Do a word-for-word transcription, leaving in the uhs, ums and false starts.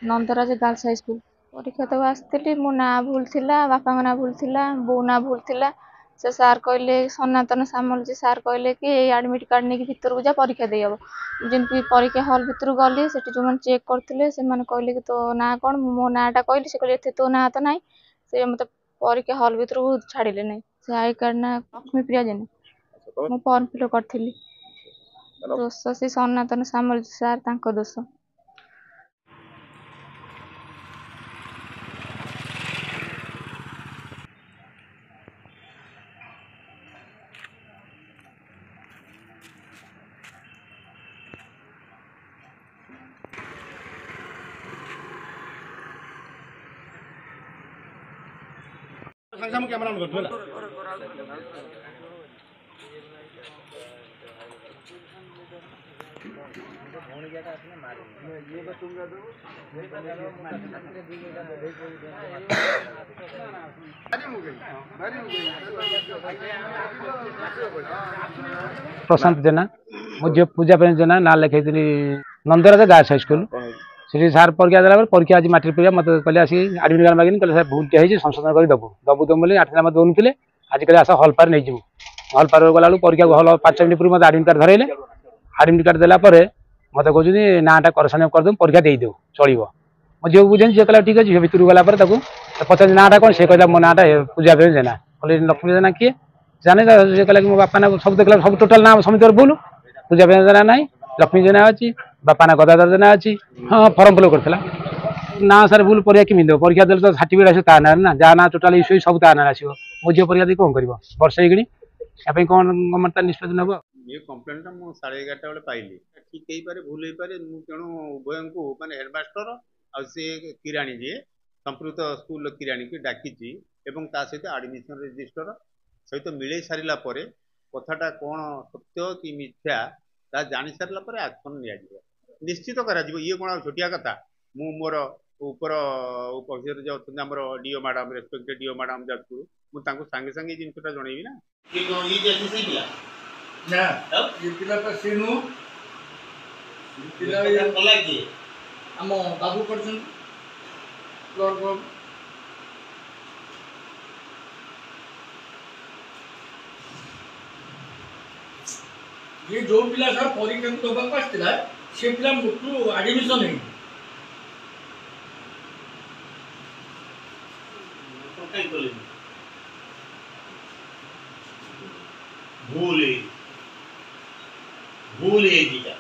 Nandaraj girls high school ପରୀକ୍ଷା ଦେବାକୁ ଆସିଥିଲି। ମୋ ନାଁ ଭୁଲ ଥିଲା, ବାପାଙ୍କ ନାଁ ଭୁଲ ଥିଲା, ବୋଉ ନାଁ ଭୁଲ ଥିଲା। ସେ ସାର୍ କହିଲେ, ସନାତନ ସାମଲ ଯେ ସାର୍ କହିଲେ କି ଏଇ ଆଡ଼ମିଟ୍ କାର୍ଡ଼ ନେଇକି ଭିତରକୁ ଯା, ପରୀକ୍ଷା ଦେଇହେବ। ଯେମିତି ପରୀକ୍ଷା ହଲ୍ ଭିତରକୁ ଗଲି, ସେଠି ଯେଉଁମାନେ ଚେକ୍ କରୁଥିଲେ ସେମାନେ କହିଲେ କି ତୋ ନାଁ କ'ଣ? ମୁଁ ମୋ ନାଁଟା କହିଲି। ସେ କହିଲେ ଏଥିରେ ତୋ ନାଁ ତ ନାହିଁ। ସେ ମୋତେ ପରୀକ୍ଷା ହଲ୍ ଭିତରକୁ ଛାଡ଼ିଲେ ନାହିଁ। ସେ I card ନାଁ ଲକ୍ଷ୍ମୀପ୍ରିୟା ଜେନା। ମୁଁ ଫର୍ମ ଫିଲ୍ଅପ୍ କରିଥିଲି। ଦୋଷ ସେ ସନାତନ ସାମଲ ସାର୍, ତାଙ୍କ ଦୋଷ। ସାଙ୍ଗେ ସାଙ୍ଗେ କ୍ୟାମେରା ଅନ୍ କରୁଛୁ ହେଲା। ପ୍ରଶାନ୍ତ ଜେନା। ମୋ ଝିଅ ପୂଜା ପାଇଁ ଜେନା ନାଁ ଲେଖେଇଥିଲି ନନ୍ଦରାଜ ଗାର୍ଲସ ହାଇସ୍କୁଲ। ସେଠି ସାର୍ ପରୀକ୍ଷା ଦେଲା ପରେ, ପରୀକ୍ଷା ଆଜି ମାଟ୍ରିକ ପରୀକ୍ଷା, ମୋତେ କହିଲେ ଆସିକି ଆଡ଼ମିଟ୍ କାର୍ଡ଼ ମାଗିନି। କହିଲେ ସାର୍ ଭୁଲଟେ ହେଇଛି, ସଂଶୋଧନ କରି ଦେବୁ ଦେବୁ ଦେବୁ ବୋଲି ଆଠ ଦିନ ମୋତେ ଦେଉନଥିଲେ। ଆଜି କହିଲେ ଆସ ହଲ୍ ପାର ନେଇଯିବୁ। ହଲ୍ ପାର ଗଲାବେଳକୁ ପରୀକ୍ଷା ହଲ୍ ପାଞ୍ଚ ମିନିଟ୍ ପୂର୍ବରୁ ମୋତେ ଆଡ଼ମିଟ୍ କାର୍ଡ଼ ଧରେଇଲେ। ଆଡ଼ମିଟ୍ କାର୍ଡ଼ ଦେଲା ପରେ ମୋତେ କହୁଛନ୍ତି ନାଁଟା କରେକ୍ସନ୍ କରିଦେବୁ, ପରୀକ୍ଷା ଦେଇଦେବୁ, ଚଳିବ। ମୋ ଝିଅକୁ ବୁଝେନି, ଝିଅ କହିଲା ଠିକ୍ ଅଛି। ଝିଅ ଭିତରକୁ ଗଲା ପରେ ତାକୁ ପଚାରିଲି ନାଁଟା କ'ଣ? ସେ କହିଲା ମୋ ନାଁଟା ପୂଜା ପ୍ରେମୀ ଜେନା। କହିଲେ ଲକ୍ଷ୍ମୀ ଜେନା କିଏ ଜାଣେ? ସେ କହିଲା କି ମୋ ବାପା ନାଁ। ସବୁ ଦେଖିଲା, ସବୁ ଟୋଟାଲ ନାଁ ସମସ୍ତଙ୍କର ଭୁଲ। ପୂଜା ପ୍ରେମୀ ଜେନା ନାହିଁ, ଲକ୍ଷ୍ମୀ ଜେନା ଅଛି, ବାପା ନାଁ ଗଦାଧର ଜେନା ଅଛି। ହଁ, ଫର୍ମ ଫିଲ୍ଅପ୍ କରିଥିଲା ନା ସାର୍ ଭୁଲ। ପରୀକ୍ଷା କେମିତି ଦେବ? ପରୀକ୍ଷା ଦେଲେ ତ ସାର୍ଟିଫିକେଟ୍ ଆସିବ ତା ନାଁରେ ନା, ଯାହା ନାଁ ଟୋଟାଲ ଇସ୍ୟୁ ସବୁ ତା ନାଁରେ ଆସିବ। ମୋ ଝିଅ ପରୀକ୍ଷା ଦେଇ କ'ଣ କରିବ ବର୍ଷେ ହେଇଗଣି? ୟା ପାଇଁ କ'ଣ ଗଭର୍ଣ୍ଣମେଣ୍ଟ ତାର ନିଷ୍ପତ୍ତି ନେବ? ଏ କମ୍ପ୍ଲେନଟା ମୁଁ ସାଢ଼େ ଏଗାରଟା ବେଳେ ପାଇଲି। ଠିକ୍ ହେଇପାରେ, ଭୁଲ ହେଇପାରେ। ମୁଁ ତେଣୁ ଉଭୟଙ୍କୁ, ମାନେ ହେଡ଼ମାଷ୍ଟର ଆଉ ସେ କିରାଣୀ ଯିଏ ସମ୍ପୃକ୍ତ ସ୍କୁଲର କିରାଣୀକି ଡାକିଛି ଏବଂ ତା ସହିତ ଆଡ଼ମିସନ୍ ରେଜିଷ୍ଟର ସହିତ ମିଳେଇ ସାରିଲା ପରେ କଥାଟା କ'ଣ ସତ୍ୟ କି ମିଥ୍ୟା ତାହା ଜାଣି ସାରିଲା ପରେ ଆକ୍ସନ୍ ନିଆଯିବ, ନିଶ୍ଚିତ କରାଯିବ। ଇଏ କ'ଣ ଆଉ ଛୋଟିଆ କଥା? ମୁଁ ମୋର ଉପର ଅଫିସର ଯେଉଁ ଅଛନ୍ତି ଆମର DEO madam, respected DEO madam Jajpur, ମୁଁ ତାଙ୍କୁ ସାଙ୍ଗେ ସାଙ୍ଗେ ଏଇ ଜିନିଷଟା ଜଣେଇବି ନା। ଇଏ ଯେ ସେଇ ପିଲା ନା, ଏ ପିଲା ତ ସେ ନୁହଁ। ପିଲା କଲା କିଏ? ଆମ ବାବୁ କରିଛନ୍ତି, କ୍ଲର୍କ ବାବୁ। ଇଏ ଯୋଉ ପିଲା ସାର୍ ପରୀକ୍ଷାକୁ ଦେବାକୁ ଆସିଥିଲା, ସେ ପିଲା ମୋଟୁ ଆଡମିସନ ହେଇନି। କାହିଁ କଲେନି? ଭୁଲ ହେଇଛି, ଭୁଲ ହେଇଛି ଏଇଟା।